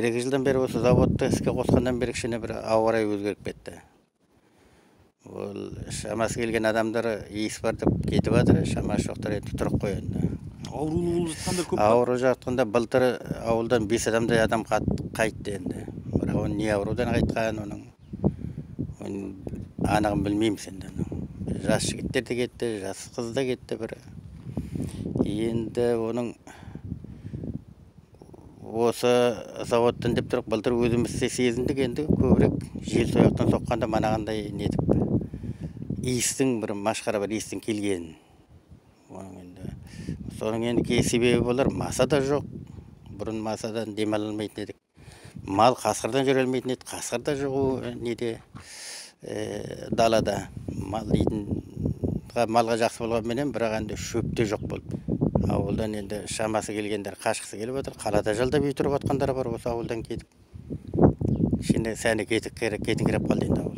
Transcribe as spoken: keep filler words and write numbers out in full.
бир эки жылдан бери осы заводду иске кошкондон бери кичине бир аба ырайы өзгөрүп кетти. Бул шамасы келген адамдар ийис бар деп кетип атыр, шамасы жоктор эми туруп коёнду. Оорулуу болуп жаткандар көп. Ооруп жатканда былтыр ауылдан беш адамдай адам кайтты энди. Бирок ал эмне оорудан кайткан, анын аныгын билбейбиз энди. Жаш жигиттер да кетти, жас кыз да кетти бир. Эndi onun осы заводтон деп туруп былтыр өзүбүз сезиндик, энди көбүрөөк жел сояктан сокканда манагандай нетип ийистин бир машкара бир ийистин келгенин. Сонун энди себеби болор, маса да жок. Бурун масадан дем ала албайтын эдик. Мал каскырдан жүрө албайтын эди, каскыр да жок неде далада. Мал малга жакшы болгон менен бирок анда шөп да жок болуп. Ауылдан енді шамасы келгендер кашкысы келип атыр. Калада жалдап үй туруп аткандар бар осы ауылдан кетип. Кичине сәни кетип кетиңкиреп калды енді ауыл.